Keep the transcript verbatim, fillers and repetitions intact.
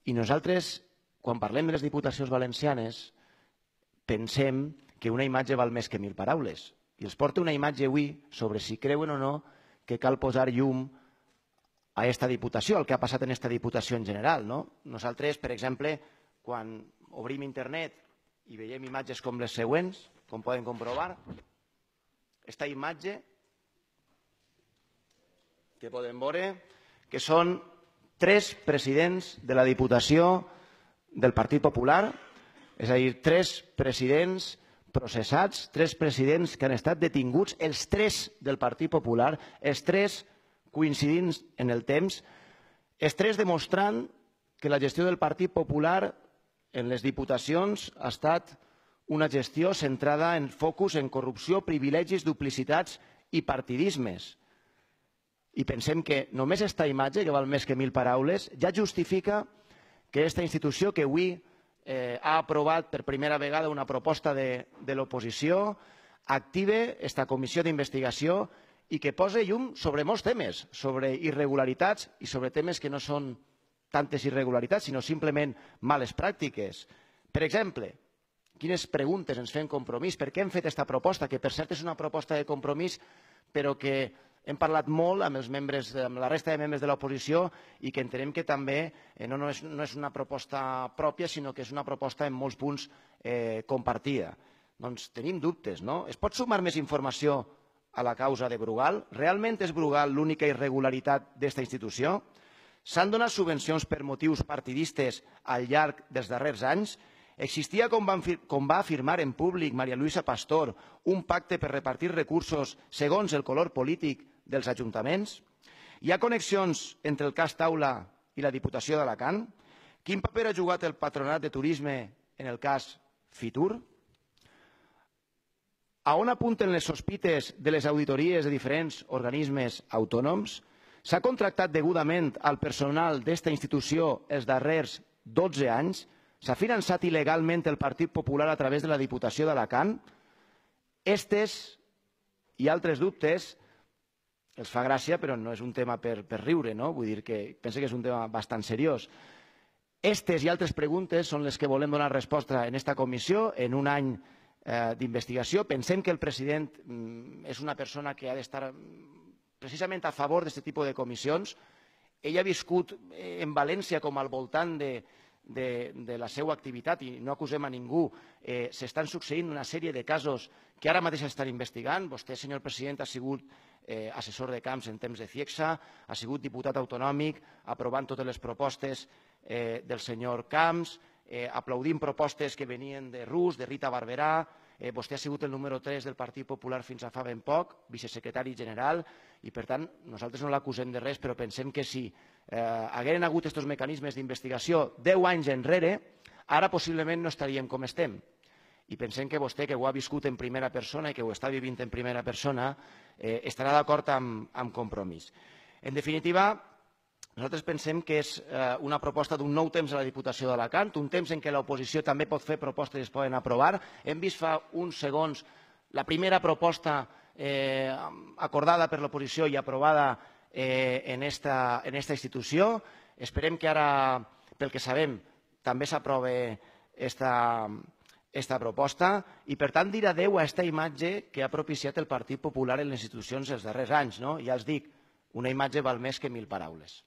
I nosaltres, quan parlem de les diputacions valencianes, pensem que una imatge val més que mil paraules. I els porto una imatge avui sobre si creuen o no que cal posar llum a aquesta diputació, el que ha passat en aquesta diputació en general. Nosaltres, per exemple, quan obrim internet i veiem imatges com les següents, com poden comprovar, aquesta imatge que podem veure, que són tres presidents de la Diputació del Partit Popular, és a dir, tres presidents processats, tres presidents que han estat detinguts, els tres del Partit Popular, els tres coincidint en el temps, els tres demostrant que la gestió del Partit Popular en les diputacions ha estat una gestió centrada en focus en corrupció, privilegis, duplicitats i partidismes. I pensem que només aquesta imatge, que val més que mil paraules, ja justifica que aquesta institució que avui ha aprovat per primera vegada una proposta de l'oposició active aquesta comissió d'investigació i que posa llum sobre molts temes, sobre irregularitats i sobre temes que no són tantes irregularitats, sinó simplement males pràctiques. Per exemple, quines preguntes ens fem Compromís? Per què hem fet aquesta proposta? Que per cert és una proposta de Compromís, però que hem parlat molt amb els membres, amb la resta de membres de l'oposició i que entenem que també no és una proposta pròpia, sinó que és una proposta en molts punts compartida. Doncs tenim dubtes, no? Es pot sumar més informació a la causa de Brugal? Realment és Brugal l'única irregularitat d'aquesta institució? S'han donat subvencions per motius partidistes al llarg dels darrers anys? Existia, com va afirmar en públic María Luisa Pastor, un pacte per repartir recursos segons el color polític dels ajuntaments? Hi ha connexions entre el cas Taula i la Diputació d'Alacant? Quin paper ha jugat el Patronat de Turisme en el cas Fitur? A on apunten les sospites de les auditories de diferents organismes autònoms? S'ha contractat degudament al personal d'aquesta institució els darrers dotze anys? S'ha finançat il·legalment el Partit Popular a través de la Diputació d'Alacant? Estes i altres dubtes els fa gràcia, però no és un tema per riure, no? Vull dir que penso que és un tema bastant seriós. Estes i altres preguntes són les que volem donar resposta en aquesta comissió, en un any d'investigació. Pensem que el president és una persona que ha d'estar precisament a favor d'aquest tipus de comissions. Ell ha viscut en València com al voltant de de la seva activitat i no acusem a ningú, s'estan succeint una sèrie de casos que ara mateix estan investigant. Vostè, senyor president, ha sigut assessor de camps en temps de Ciegsa, ha sigut diputat autonòmic, aprovant totes les propostes del senyor Camps, aplaudint propostes que venien de Rus, de Rita Barberà. Vostè ha sigut el número tres del Partit Popular fins a fa ben poc, vicesecretari general, i per tant nosaltres no l'acusem de res, però pensem que si hagueren hagut aquests mecanismes d'investigació deu anys enrere, ara possiblement no estaríem com estem. I pensem que vostè, que ho ha viscut en primera persona i que ho està vivint en primera persona, estarà d'acord amb Compromís. En definitiva, nosaltres pensem que és una proposta d'un nou temps a la Diputació d'Alacant, un temps en què l'oposició també pot fer propostes i es poden aprovar. Hem vist fa uns segons la primera proposta acordada per l'oposició i aprovada en aquesta institució. Esperem que ara, pel que sabem, també s'aprove aquesta proposta i, per tant, dir adeu a aquesta imatge que ha propiciat el Partit Popular en les institucions els darrers anys. Ja els dic, una imatge val més que mil paraules.